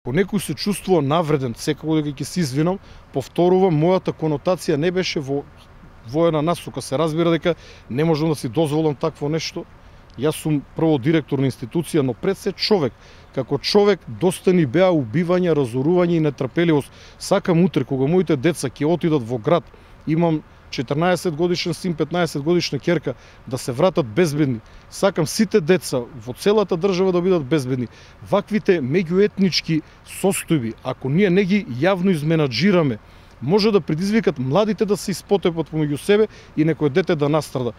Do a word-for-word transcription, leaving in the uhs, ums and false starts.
Ако некој се чувствува навреден, секако дека ќе се извинам, повторувам, мојата конотација не беше во во една насока. Се разбира дека не можам да си дозволам такво нешто. Јас сум прво директор на институција, но пред се човек. Како човек доста ни беа убивања, разорување и нетрпеливост. Сакам утре кога моите деца ќе отидат во град, имам четрнаесет годишен син, петнаесет годишна ќерка, да се вратат безбедни. Сакам сите деца во целата држава да бидат безбедни. Ваквите меѓуетнички состојби, ако ние не ги јавно изменаџираме, може да предизвикат младите да се испотепат помеѓу себе и некој дете да настрада.